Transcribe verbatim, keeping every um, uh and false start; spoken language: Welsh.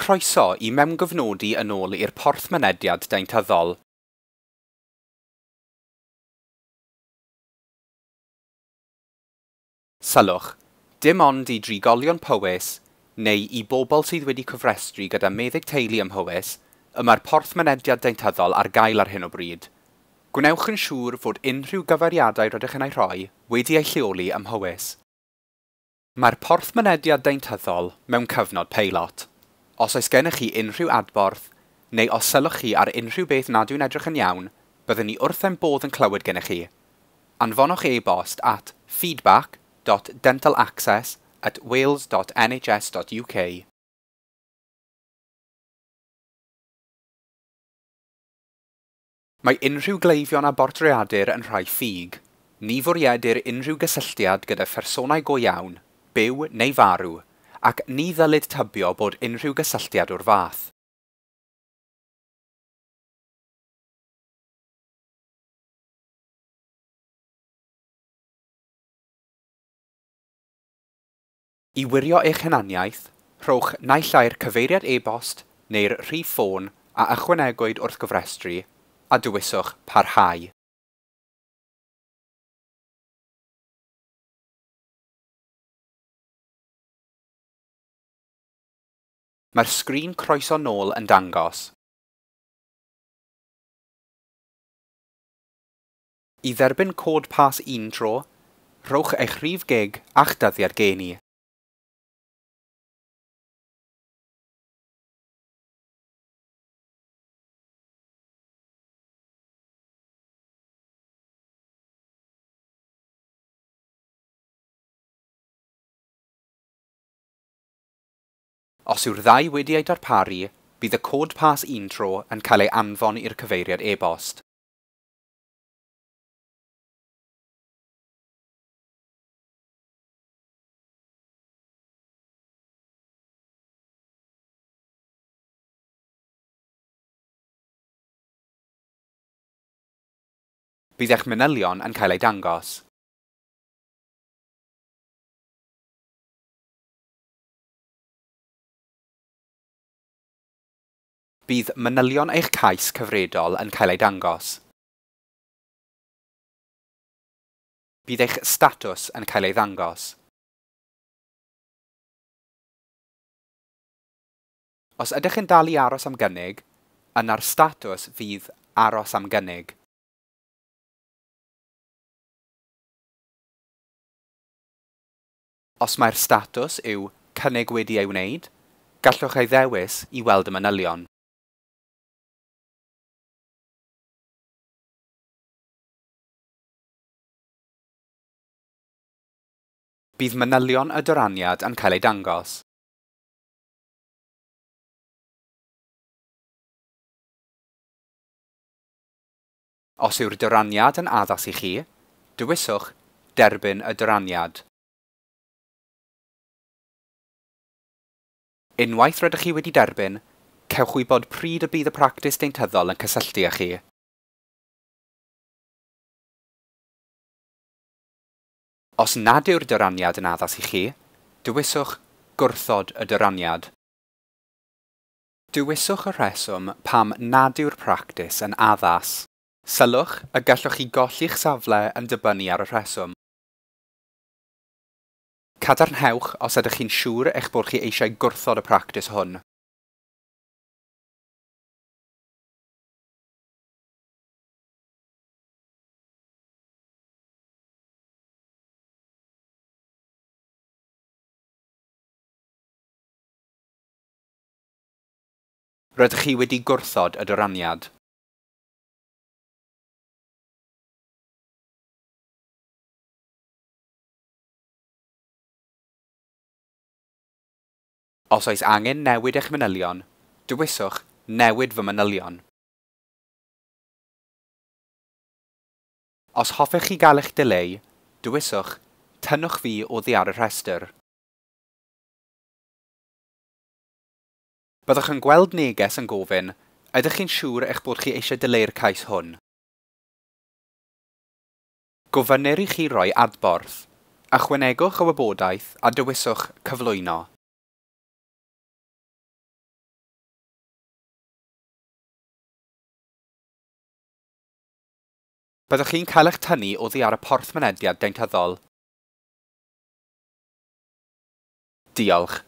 Croeso i mewngofnodi yn ôl i'r porth mynediad deintyddol. Sylwch, dim ond i drigolion Powys neu i bobl sydd wedi cofrestru gyda meddyg teulu ym Mhowys y mae'r porth mynediad deintyddol ar gael ar hyn o bryd. Gwnewch yn siŵr fod unrhyw gyfeiriadau rydych yn eu rhoi wedi eu lleoli ym Mhowys. Mae'r porth mynediad deintyddol mewn cyfnod peilot. Os oes gennych chi unrhyw adborth, neu os sylwch chi ar unrhyw beth nad yw'n edrych yn iawn, byddwn ni wrth ein bodd yn clywed gennych chi. Anfonwch e-bost at feedback dot dental access at wales dot N H S dot U K. Mae unrhyw gleifion a bortreadir yn rhai ffug. Ni fwriedir unrhyw gysylltiad gyda phersonau go iawn, byw neu farw, ac ni ddylid tybio bod unrhyw gysylltiad o'r fath. I wirio eich hunaniaeth, rhowch naill ai'r cyfeiriad e-bost neu'r rhif ffôn a ychwanegwyd wrth gofrestru, a dewiswch Parhau. Mae'r sgrin croeso nôl yn dangos. I dderbyn cod pas un tro, rhowch eich rhif gig a'ch dyddiad geni. Os yw'r ddau wedi eu darparu, bydd y cod pas un tro yn cael ei anfon i'r cyfeiriad e-bost. Bydd eich manylion yn cael eu dangos. Bydd manylion eich cais cyfredol yn cael eu dangos. Bydd eich statws yn cael ei ddangos. Os ydych yn dal i aros am gynnig, yna'r statws fydd aros am gynnig. Os mae'r statws yw cynnig wedi ei wneud, gallwch ei ddewis i weld y manylion. Bydd manylion y dyraniad yn cael eu dangos. Os yw'r dyraniad yn addas i chi, dewiswch Derbyn y dyraniad. Unwaith rydych chi wedi derbyn, cewch wybod pryd y bydd y practis deintyddol yn cysylltu â chi. Os nad yw'r dyraniad yn addas i chi, dewiswch Gwrthod y dyraniad. Dewiswch y rheswm pam nad yw'r practis yn addas. Sylwch y gallwch chi golli'ch safle yn dibynnu ar y rheswm. Cadarnhewch os ydych chi'n siŵr eich bod chi eisiau gwrthod y practis hwn. Rydych chi wedi gwrthod y dyraniad. Os oes angen newid eich manylion, dewiswch Newid fy manylion. Os hoffech chi gael eich dileu, dewiswch Tynnwch fi oddi ar y rhestr. Byddwch yn gweld neges yn gofyn, ydych chi'n siŵr eich bod chi eisiau dileu'r cais hwn? Gofynnir i chi roi adborth. Ychwanegwch y wybodaeth a dewiswch Cyflwyno. Byddwch chi'n cael eich tynnu oddi ar y porth mynediad deintyddol. Diolch.